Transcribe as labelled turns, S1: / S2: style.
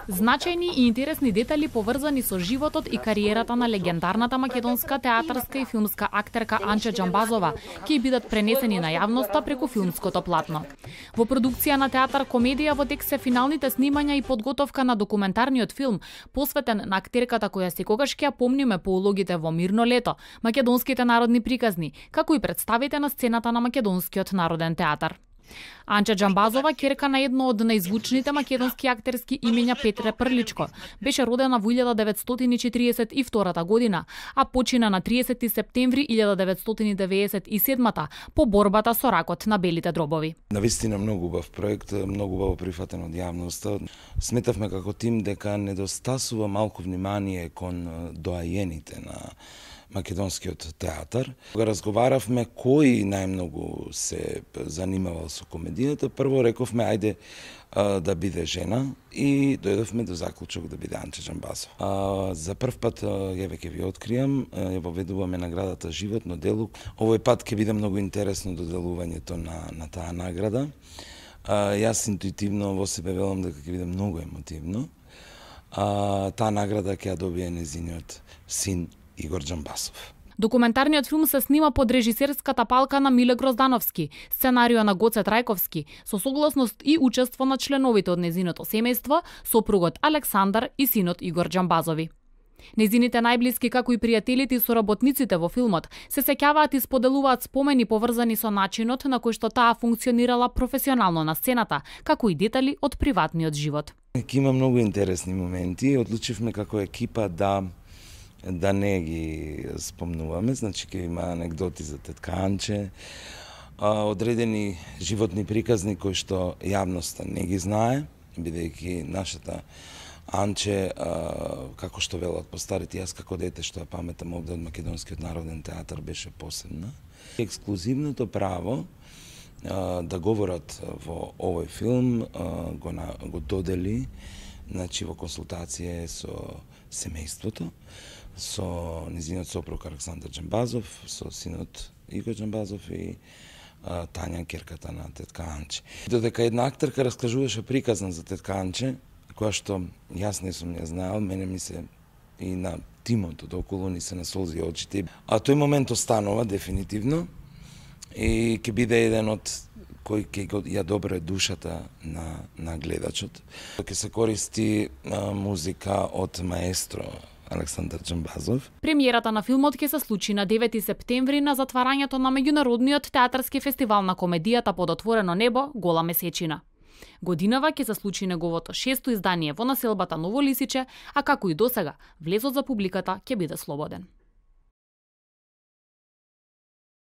S1: Значајни и интересни детали поврзани со животот и кариерата на легендарната македонска театарска и филмска актерка Анче Џамбазова ќе бидат пренесени на јавноста преку филмското платно. Во продукција на театар комедија во тек се финалните снимања и подготовка на документарниот филм посветен на актерката која секогаш ќе ја помниме по улогите во Мирно лето, македонските народни приказни, како и представите на сцената на македонскиот народен театар. Анче Џамбазова, ќерка на едно од најзвучните македонски актерски имења Петре Прличко, беше родена во 1942 година, а почина на 30 септември 1997 по борбата со ракот на белите дробови.
S2: Навистина многу убав проект, многу убаво прифатен од јавноста. Сметавме како тим дека недостасува малку внимание кон доајените на македонскиот театар. Кога разговаравме кој најмногу се занимавал со комедијата, прво рековме ајде да биде жена и дојдовме до заклучок да биде Анче Џамбазова. За прв пат ја веќе ви откријам, ја воведуваме наградата Животно дело. Овој пат ќе биде многу интересно доделувањето на таа награда. Јас интуитивно во себе велам дека ќе биде многу емотивно. Таа награда ќе ја добие незиниот син Игор Џамбазов.
S1: Документарниот филм се снима под режисерската палка на Миле Гроздановски, сценарио на Гоце Трајковски, со согласност и учество на членовите од незиното семејство, сопругот Александар и синот Игор Џамбазови. Незините најблиски, како и пријателите и соработниците во филмот, се сеќаваат и споделуваат спомени поврзани со начинот на кој што таа функционирала професионално на сцената, како и детали од приватниот живот.
S2: Има многу интересни моменти. Одлучивме како екипа да не ги спомнуваме, значи ќе има анегдоти за тетка Анче, одредени животни приказни кои што јавноста не ги знае, бидејќи нашата Анче, како што велат постарите, јас како дете што ја паметам овде од Македонскиот народен театар беше посебна. Ексклузивното право да говорат во овој филм го додели, значи во консултација со семејството, со незиниот сопруг Александар Џамбазов, со синот Игор Џамбазов и Тања, ќерката на тетка Анче. Додека една актерка раскажуваше приказна за тетка Анче, која што јас не сум ја знаел, мене ми се и на тимот од околу ни се насолзи очите. А тој момент останува дефинитивно и ќе биде еден од кој ќе ја добре душата на гледачот. Ќе се користи музика од маестро Александар Џамбазов.
S1: Премиерата на филмот ќе се случи на 9 септември на затварањето на меѓународниот театарски фестивал на комедијата под отворено небо Гола месечина. Годинава ќе се случи неговото 6-то издание во населбата Ново Лисиче, а како и досега, влезот за публиката ќе биде слободен.